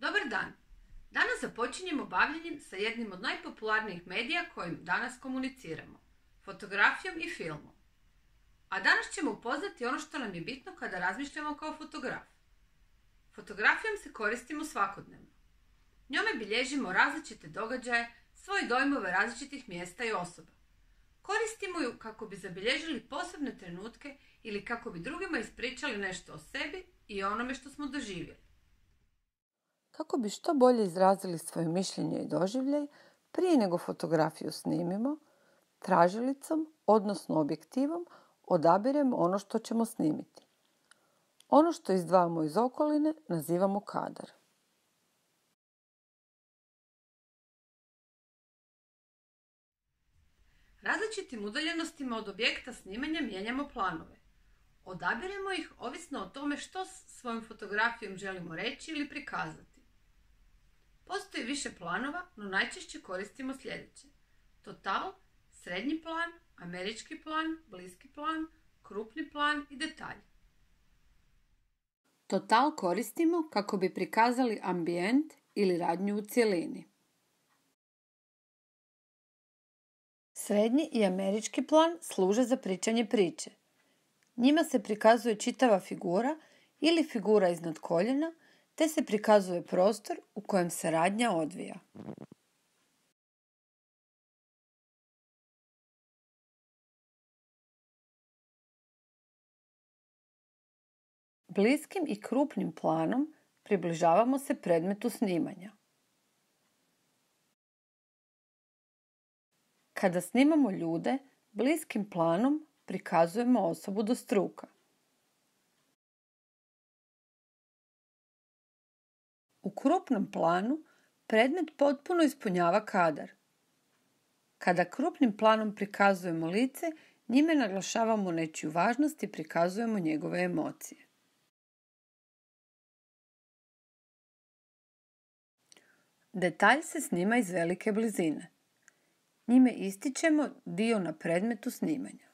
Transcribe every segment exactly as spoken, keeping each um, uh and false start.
Dobar dan! Danas započinjemo bavljenjem sa jednim od najpopularnijih medija kojim danas komuniciramo, fotografijom i filmom. A danas ćemo upoznati ono što nam je bitno kada razmišljamo kao fotograf. Fotografijom se koristimo svakodnevno. Njome bilježimo različite događaje, svoje dojmove različitih mjesta i osoba. Koristimo ju kako bi zabilježili posebne trenutke ili kako bi drugima ispričali nešto o sebi i onome što smo doživjeli. Kako bi što bolje izrazili svoje mišljenje i doživljaj, prije nego fotografiju snimimo, tražilicom, odnosno objektivom, odabiremo ono što ćemo snimiti. Ono što izdvajamo iz okoline nazivamo kadar. Različitim udaljenostima od objekta snimanja mijenjamo planove. Odabiremo ih ovisno o tome što s svojom fotografijom želimo reći ili prikazati. Postoji više planova, no najčešće koristimo sljedeće: total, srednji plan, američki plan, bliski plan, krupni plan i detalj. Total koristimo kako bi prikazali ambijent ili radnju u cjelini. Srednji i američki plan služe za pričanje priče. Njima se prikazuje čitava figura ili figura iznad koljena, te se prikazuje prostor u kojem se radnja odvija. Bliskim i krupnim planom približavamo se predmetu snimanja. Kada snimamo ljude, bliskim planom prikazujemo osobu do struka. U krupnom planu predmet potpuno ispunjava kadar. Kada krupnim planom prikazujemo lice, njime naglašavamo nečiju važnost i prikazujemo njegove emocije. Detalj se snima iz velike blizine. Njime ističemo dio na predmetu snimanja.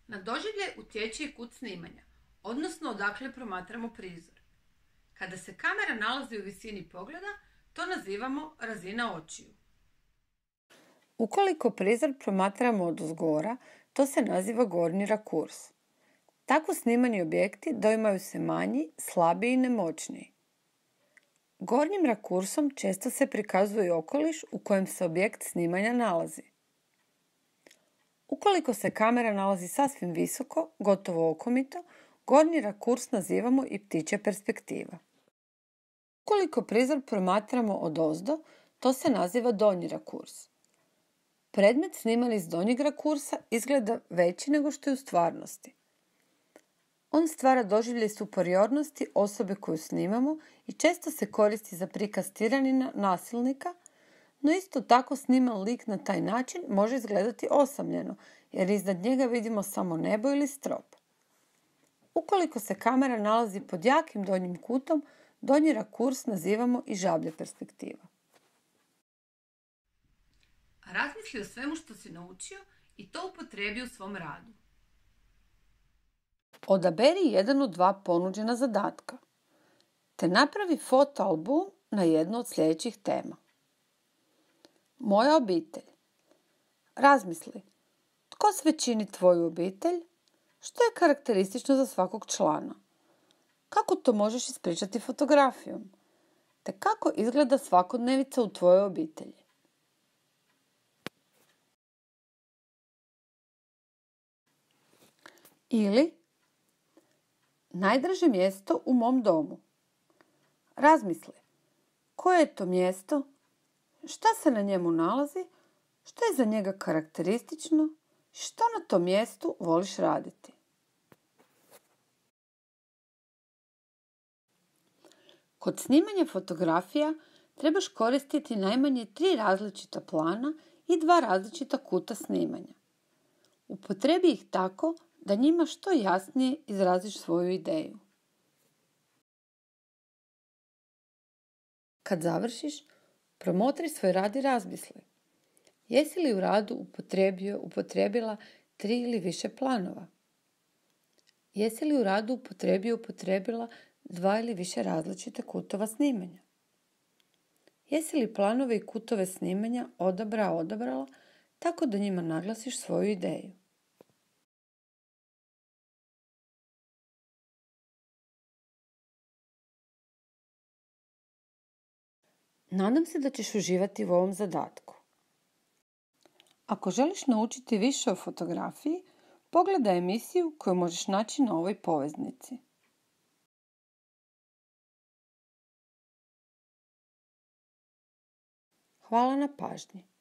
Na doživljaj utječe i kut snimanja, odnosno odakle promatramo prizor. Kada se kamera nalazi u visini pogleda, to nazivamo razina očiju. Ukoliko prizor promatramo odozgora, to se naziva gornji rakurs. Tako snimani objekti doimaju se manji, slabiji i nemoćniji. Gornjim rakursom često se prikazuje okoliš u kojem se objekt snimanja nalazi. Ukoliko se kamera nalazi sasvim visoko, gotovo okomito, gornji rakurs nazivamo i ptičja perspektiva. Ukoliko prizor promatramo odozdo, to se naziva donji rakurs. Predmet sniman iz donjeg rakursa izgleda veći nego što je u stvarnosti. On stvara doživljaj superiornosti osobe koju snimamo i često se koristi za prikaz tiranina, nasilnika, no isto tako sniman lik na taj način može izgledati osamljeno, jer iznad njega vidimo samo nebo ili strop. Ukoliko se kamera nalazi pod jakim donjim kutom, donji rakurs nazivamo i žablja perspektiva. Razmisli o svemu što si naučio i to upotrijebi u svom radu. Odaberi jedan od dva ponuđena zadatka, te napravi fotoalbum na jednu od sljedećih tema. Moja obitelj. Razmisli, tko sve čini tvoju obitelj? Što je karakteristično za svakog člana? Kako to možeš ispričati fotografijom? Te kako izgleda svakodnevica u tvojoj obitelji? Ili najdraže mjesto u mom domu. Razmisli, koje je to mjesto? Šta se na njemu nalazi? Što je za njega karakteristično? Što na tom mjestu voliš raditi? Kod snimanja fotografija trebaš koristiti najmanje tri različita plana i dva različita kuta snimanja. Upotrebi ih tako da njima što jasnije izraziš svoju ideju. Kad završiš, promotri svoj rad i razmisli. Jesi li u radu upotrijebio, upotrijebila tri ili više planova? Jesi li u radu upotrijebio upotrijebila dva ili više različite kutova snimanja? Jesi li planove i kutove snimanja odabrao odabrala tako da njima naglasiš svoju ideju? Nadam se da ćeš uživati u ovom zadatku. Ako želiš naučiti više o fotografiji, pogledaj emisiju koju možeš naći na ovoj poveznici. Hvala na pažnji.